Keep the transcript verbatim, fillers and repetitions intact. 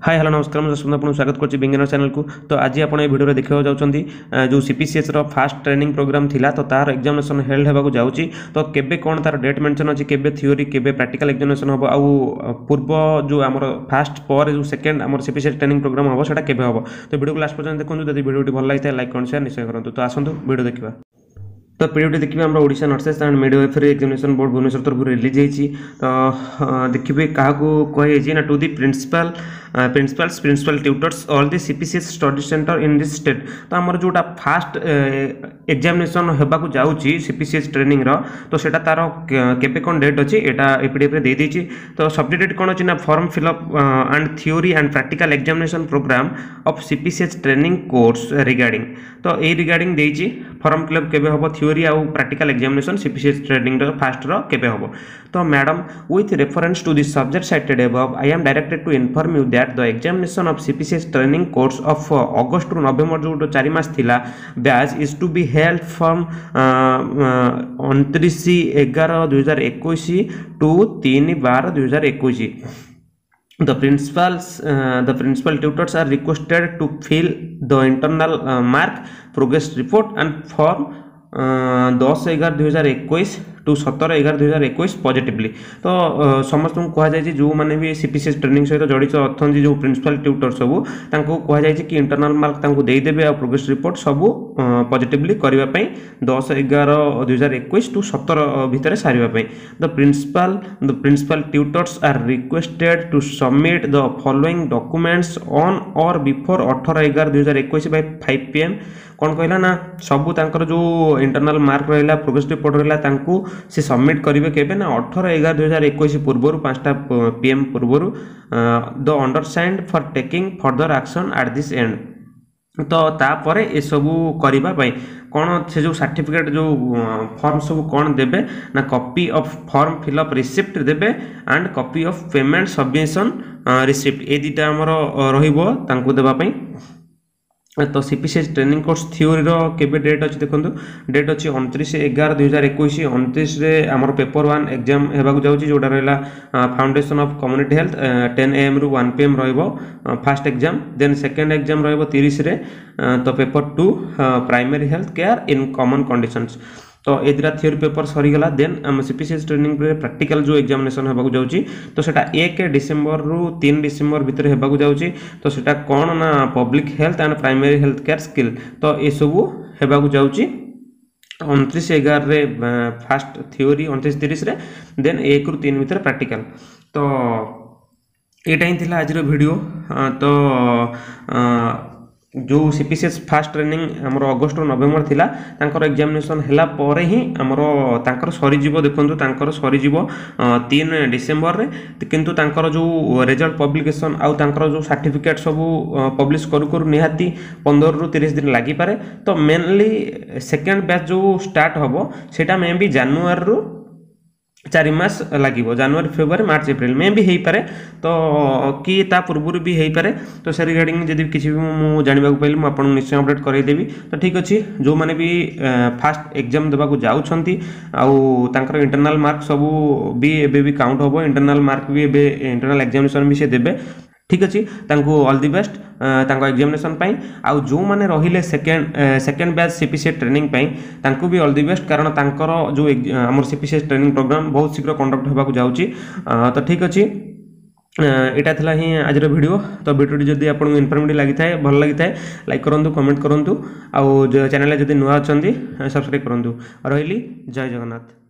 high hello ନମସ୍କାର ମୁଁ ଯଶବନ୍ତ ଆପଣଙ୍କୁ ସ୍ୱାଗତ କରୁଛି ବିଜ୍ଞାନ ଚ୍ୟାନେଲକୁ ତ ଆଜି ଆପଣ ଏ ଭିଡ଼ିଓରେ ଦେଖିବାକୁ ଯାଉଛନ୍ତି ଯେଉଁ ସିପିସିଏଚ୍ର ଫାଷ୍ଟ ଟ୍ରେନିଂ ପ୍ରୋଗ୍ରାମ୍ ଥିଲା ତ ତାର ଏକ୍ଜାମିନେସନ୍ ହେଲ୍ଡ ହେବାକୁ ଯାଉଛି ତ କେବେ କ'ଣ ତାର ଡେଟ୍ ମେନସନ୍ ଅଛି କେବେ ଥିଓରି କେବେ ପ୍ରାକ୍ଟିକାଲ ଏକ୍ଜାମିନେସନ୍ ହେବ ଆଉ ପୂର୍ବ ଯେଉଁ ଆମର ଫାଷ୍ଟ ପରେ ଯେଉଁ ସେକେଣ୍ଡ ଆମର ସିପିସିଏଚ୍ ଟ୍ରେନିଂ ପ୍ରୋଗ୍ରାମ୍ ହେବ ସେଇଟା କେବେ ହେବ ତ ଭିଡ଼ିଓକୁ ଲାଷ୍ଟ ପର୍ଯ୍ୟନ୍ତ ଦେଖନ୍ତୁ ଯଦି ଭିଡ଼ିଓଟି ଭଲ ଲାଗିଥାଏ ଲାଇକ୍ କମେଣ୍ଟ ସେୟାର ନିଶ୍ଚୟ କରନ୍ତୁ ତ ଆସନ୍ତୁ ଭିଡ଼ିଓ ଦେଖିବା ତ ପିଡ଼ିଏଫ୍ଟି ଦେଖିବେ ଆମର Odisha nurses and midwifery examination board Bhubaneswar ତରଫରୁ ରିଲିଜ୍ ହେଇଛି ତ ଦେଖିବେ କାହାକୁ କୁହାଯାଇଛି ନା to the principal principals principal tutors all the CPCH study center in this state ତ ଆମର ଯେଉଁଟା ଫାଷ୍ଟ ଏକ୍ଜାମିନେସନ୍ ହେବାକୁ ଯାଉଛି ସିପିସିଏଚ୍ ଟ୍ରେନିଂର ତ ସେଇଟା ତାର କେବେ କ'ଣ ଡେଟ୍ ଅଛି ଏଇଟା ଏ ପିଡ଼ିଏଫ୍ରେ ଦେଇଦେଇଛି ତ ସବଜେକ୍ଟ ଡେଟ୍ କ'ଣ ଅଛି ନା form fill up and theory and practical examination program of CPCH training course regarding ତ ଏଇ ରିଗାର୍ଡ଼ିଂ ଦେଇଛି ଫର୍ମ ଫିଲ୍ଅପ୍ କେବେ ହେବ ଥିଓରି ଆଉ ପ୍ରାକ୍ଟିକାଲ ଏକ୍ଜାମିନେସନ୍ ସିପିସିଏଚ୍ ଟ୍ରେନିଂର ଫାଷ୍ଟର କେବେ ହେବ ତ madam with reference to the subject cited above I am directed to inform you that the examination of CPCH training course of August to November ଯେଉଁ ଚାରି ମାସ ଥିଲା batch is to be held from ଅଣତିରିଶ ଏଗାର ଦୁଇହଜାର ଏକୋଇଶ two ତିନି ବାର ଦୁଇହଜାର ଏକୋଇଶ the principals uh, the principal tutors are requested to fill the internal uh, mark progress report and form ଦଶ ଏଗାର ଦୁଇହଜାର ଏକୋଇଶ ଟୁ ସତର ଏଗାର ଦୁଇହଜାର ଏକୋଇଶ ପଜିଟିଭଲି ତ ସମସ୍ତଙ୍କୁ କୁହାଯାଇଛି ଯେଉଁମାନେ ବି C P C H training ସହିତ ଜଡ଼ିତ ଅଛନ୍ତି ଯେଉଁ ପ୍ରିନ୍ସିପାଲ୍ ଟ୍ୟୁଟର ସବୁ ତାଙ୍କୁ କୁହାଯାଇଛି କି ଇଣ୍ଟରନାଲ୍ ମାର୍କ ତାଙ୍କୁ ଦେଇଦେବେ ଆଉ ପ୍ରୋଗ୍ରେସ୍ ରିପୋର୍ଟ ସବୁ ପଜିଟିଭଲି କରିବା ପାଇଁ ଦଶ ଏଗାର ଦୁଇହଜାର ଏକୋଇଶ ଟୁ ସତର ଭିତରେ ସାରିବା ପାଇଁ the principal the principal tutors are requested to submit the following documents on or before ଅଠର ଏଗାର ଦୁଇହଜାର ଏକୋଇଶ ବାଇ ଫାଇଭ୍ ପି ଏମ୍ କ'ଣ କହିଲା ନା ସବୁ ତାଙ୍କର ଯେଉଁ ଇଣ୍ଟରନାଲ୍ ମାର୍କ ରହିଲା ପ୍ରୋଗ୍ରେସ୍ ରିପୋର୍ଟ ରହିଲା ତାଙ୍କୁ ସେ ସବମିଟ୍ କରିବେ କେବେ ନା ଅଠର ଏଗାର ଦୁଇହଜାର ଏକୋଇଶ ପୂର୍ବରୁ ପାଞ୍ଚଟା ପି ଏମ୍ ପୂର୍ବରୁ the undersigned for taking further action at this end ତ ତାପରେ ଏସବୁ କରିବା ପାଇଁ କ'ଣ ସେ ଯେଉଁ ସାର୍ଟିଫିକେଟ୍ ଯେଉଁ ଫର୍ମ ସବୁ କ'ଣ ଦେବେ ନା copy of form fill up receipt ଦେବେ and copy of payment submission receipt ଏ ଦୁଇଟା ଆମର ରହିବ ତାଙ୍କୁ ଦେବା ପାଇଁ ତ C P C H training course ଥିଓରିର କେବେ ଡେଟ୍ ଅଛି ଦେଖନ୍ତୁ ଡେଟ୍ ଅଛି ଅଣତିରିଶ ଏଗାର ଦୁଇହଜାର ଏକୋଇଶ ଅଣତିରିଶରେ ଆମର ପେପର ୱାନ୍ ଏକ୍ଜାମ୍ ହେବାକୁ ଯାଉଛି ଯେଉଁଟା ରହିଲା foundation of community health ten ଏଏମ୍ରୁ one P M ରହିବ first exam then second exam ରହିବ ତିରିଶରେ ତ paper two primary health care in common conditions ତ ଏ ଦୁଇଟା ଥିଓରି ପେପର ସରିଗଲା ଦେନ୍ ଆମ C P C H training ପରେ ପ୍ରାକ୍ଟିକାଲ ଯେଉଁ ଏକ୍ଜାମିନେସନ୍ ହେବାକୁ ଯାଉଛି ତ ସେଇଟା ଏକ ଡିସେମ୍ବରରୁ ତିନି ଡିସେମ୍ବର ଭିତରେ ହେବାକୁ ଯାଉଛି ତ ସେଇଟା କ'ଣ ନା public health and primary health care skill ତ ଏସବୁ ହେବାକୁ ଯାଉଛି ଅଣତିରିଶ ଏଗାରରେ ଫାଷ୍ଟ ଥିଓରି ଅଣତିରିଶ ତିରିଶରେ ଦେନ୍ ଏକରୁ ତିନି ଭିତରେ ପ୍ରାକ୍ଟିକାଲ ତ ଏଇଟା ହିଁ ଥିଲା ଆଜିର ଭିଡ଼ିଓ ତ ଯେଉଁ C P C H first training ଆମର ଅଗଷ୍ଟରୁ ନଭେମ୍ବର ଥିଲା ତାଙ୍କର ଏକ୍ଜାମିନେସନ୍ ହେଲା ପରେ ହିଁ ଆମର ତାଙ୍କର ସରିଯିବ ଦେଖନ୍ତୁ ତାଙ୍କର ସରିଯିବ ତିନି ଡିସେମ୍ବରରେ କିନ୍ତୁ ତାଙ୍କର ଯେଉଁ ରେଜଲ୍ଟ ପବ୍ଲିକେସନ୍ ଆଉ ତାଙ୍କର ଯେଉଁ ସାର୍ଟିଫିକେଟ୍ ସବୁ ପବ୍ଲିଶ କରୁ କରୁ ନିହାତି ପନ୍ଦରରୁ ତିରିଶ ଦିନ ଲାଗିପାରେ ତ ମେନଲି ସେକେଣ୍ଡ ବ୍ୟାଚ୍ ଯେଉଁ ଷ୍ଟାର୍ଟ ହେବ ସେଇଟା ମେ ବି ଜାନୁଆରୀରୁ ଚାରି ମାସ ଲାଗିବ ଜାନୁଆରୀ ଫେବୃଆରୀ ମାର୍ଚ୍ଚ ଏପ୍ରିଲ ମେ ବି ହେଇପାରେ ତ କି ତା ପୂର୍ବରୁ ବି ହେଇପାରେ ତ ସେ ରିଗାର୍ଡ଼ିଂ ଯଦି କିଛି ବି ମୁଁ ଜାଣିବାକୁ ପାଇଲି ମୁଁ ଆପଣଙ୍କୁ ନିଶ୍ଚୟ ଅପଡ଼େଟ୍ କରାଇଦେବି ତ ଠିକ୍ ଅଛି ଯେଉଁମାନେ ବି ଫାଷ୍ଟ ଏକ୍ଜାମ୍ ଦେବାକୁ ଯାଉଛନ୍ତି ଆଉ ତାଙ୍କର ଇଣ୍ଟରନାଲ୍ ମାର୍କ ସବୁ ବି ଏବେ ବି କାଉଣ୍ଟ ହେବ ଇଣ୍ଟରନାଲ୍ ମାର୍କ ବି ଏବେ ଇଣ୍ଟରନାଲ୍ ଏକ୍ଜାମିନେସନ୍ ବି ସେ ଦେବେ ଠିକ୍ ଅଛି ତାଙ୍କୁ ଅଲ୍ the best ତାଙ୍କ ଏକ୍ଜାମିନେସନ୍ ପାଇଁ ଆଉ ଯେଉଁମାନେ ରହିଲେ second second batch C P C training ପାଇଁ ତାଙ୍କୁ ବି ଅଲ୍ the best କାରଣ ତାଙ୍କର ଯେଉଁ ଆମର C P C training programme ବହୁତ ଶୀଘ୍ର କଣ୍ଡକ୍ଟ ହେବାକୁ ଯାଉଛି ତ ଠିକ୍ ଅଛି ଏଇଟା ଥିଲା ହିଁ ଆଜିର ଭିଡ଼ିଓ ତ ଭିଡ଼ିଓଟି ଯଦି ଆପଣଙ୍କୁ ଇନଫର୍ମେଟିଭ୍ ଲାଗିଥାଏ ଭଲ ଲାଗିଥାଏ ଲାଇକ୍ କରନ୍ତୁ କମେଣ୍ଟ କରନ୍ତୁ ଆଉ ଚ୍ୟାନେଲରେ ଯଦି ନୂଆ ଅଛନ୍ତି ସବସ୍କ୍ରାଇବ୍ କରନ୍ତୁ ରହିଲି ଜୟ ଜଗନ୍ନାଥ